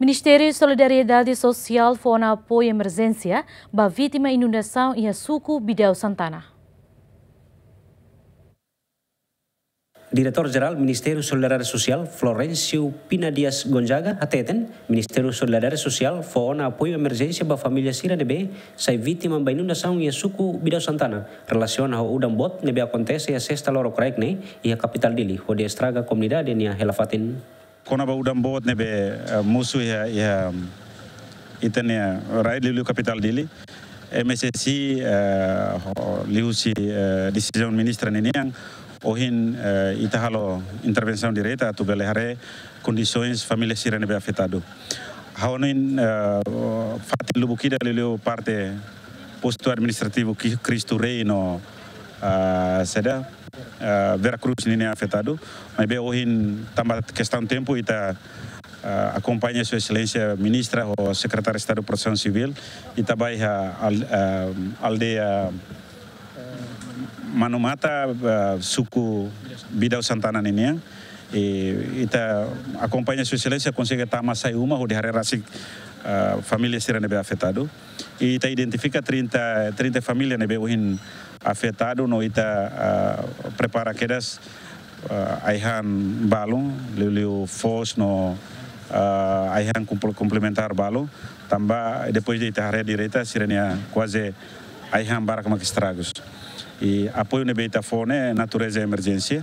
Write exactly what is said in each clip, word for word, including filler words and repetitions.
Ministériu Solidariedade Sosiál fó ona apoiu emerjénsia ba vítima inundasaun iha suku Bidau Santana. Diretór Jerál Ministériu Solidariedade Sosiál, Florencio Pina Dias Gonzaga, hateten, Ministériu Solidariedade Sosiál fó ona apoiu emerjénsia ba família sira ne'ebé sai vítima ba inundasaun iha suku Bidau Santana, relasiona ho udan boot ne'ebé akontese iha sesta loron kraik ne'e iha kapitál Dili, hodi estraga komunidade nia hela-fatin. Kona-ba udan boot ne'ebé, eh, mosu iha, iha ita-nia rai liuliu kapitál Dili, M S S I, eh, ho-, liuhusi, eh, desizaun ministra ninian, ohin, eh, ita halo intervensaun direta atu bele haree kondisoens família sira ne'ebé afetadu. Ha'u hanoin, eh, fatin lubuk ida liuliu parte postu administrativu Ki-, Cristo Rei no, ah, saida, ah, Vera Cruz ninia afetadu. Maibé ohin tanba kestaun tempu ita, ah, akompaña Sua Exelénsia Ministra ho Sekretáriu Estadu Protesaun Sivíl. Ita bá iha al-, ah, aldeia Manu Mata, ah, suku Bidau Santana ninian. I ita akompaña Sua Exelénsia konsege tama sai uma hodi haree rasik, ah, família sira ne'ebé afetadu. I ita identifika trinta, trinta família ne'ebé ohin afetadu no ita, ah, prepara kedas, ah, ai-han balun, liuliu foos no, ah, ai-han kompl-, komplementár balun. Tanba depois de ita haree direta sira-nia kuaze ai-han barak mak estragus. I apoiu ne'ebé ita fó ne'e natureza emerjénsia.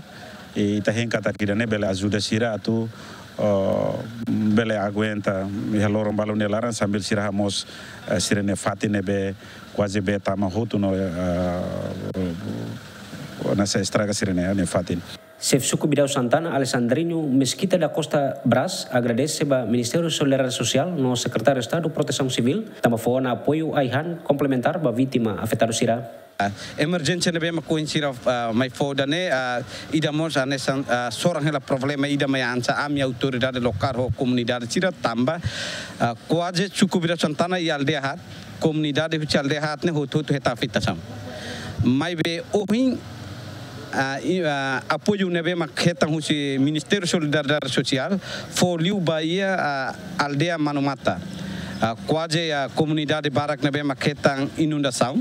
I ita hein katak ida-ne'e bele ajuda sira atu, eh, bele aguenta iha loron balun nia laran sambil sira hamoos, eh, sira-nia fatin ne'ebé kuaze bee tama hotu no, eh, hanesan estraga sira-nia, nia fatin. Xefe Suku Bidau Santana, Alexandrino Mesquita da Costa Braz, agradese ba Ministériu Solidariedade Sosiál no Sekretáriu Estadu Protesaun Sivíl, tanba fó ona apoiu ai-han komplementár ba vítima afetadu sira. Ah, emerjénsia ne'ebé mak ohin sira, ah, mai fó ida-ne'e, ah, ida mós hanesan, ah, soran hela problema ida mai hanesan ami autoridade lokál ho komunidade sira tanba, ah, kuaze suku Bidau Santana iha aldeia haat, komunidade husi aldeia haat ne'e hotu-hotu hetan afetasaun. Maibé ohin, ah, i, ah, apoiu ne'ebé mak hetan husi Ministériu Solidariedade Sosiál fó liu ba iha, ah, aldeia Manu Mata. Ah, kuaze, ah, komunidade barak ne'ebé mak hetan inundasaun,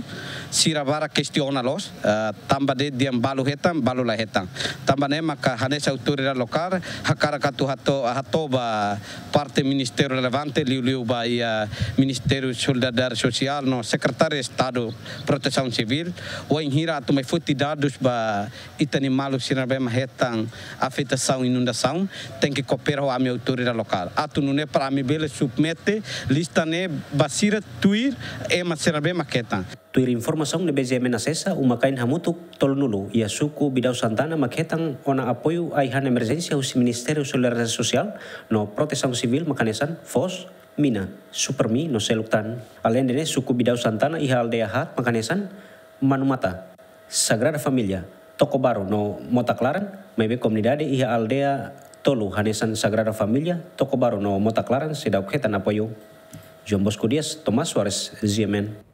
sira barak kestiona loos, ah, tanba de'it dehan balu hetan, balu la hetan. Tanba ne'e maka hanesan autoridade lokál hakarak atu hato-, hato'o ba parte ministériu relevante, liuliu ba iha Ministériu Solidariedade Sosiál no Sekretáriu Estadu Protesaun Sivíl, wainhira atu mai foti dadus ba ita-nia maluk sira ne'ebé mak hetan afetasaun inundasaun, tenke koopera ho ami autoridade lokál. Atu nune'e para ami bele submete lista ne'e ba sira tuir ema sira ne'ebé mak hetan. Tuir informasaun ne'ebé G M N asesa, uma-kain hamutuk tolunulu iha suku Bidau Santana mak hetan ona apoiu ai-han emerjénsia husi Ministériu Solidariedade Sosiál no Protesaun Sivíl mak hanesan foos, mina, Supermi no seluk tan. Aleinde ne'e, suku Bidau Santana iha aldeia haat mak hanesan Manu Mata, Sagrada Família, Toko Baru no Mota Klaran, maibé komunidade iha aldeia tolu hanesan Sagrada Família, Toko Baru no Mota Klaran seidauk hetan apoiu. João Bosco Dias, Tomás Soares, G M N.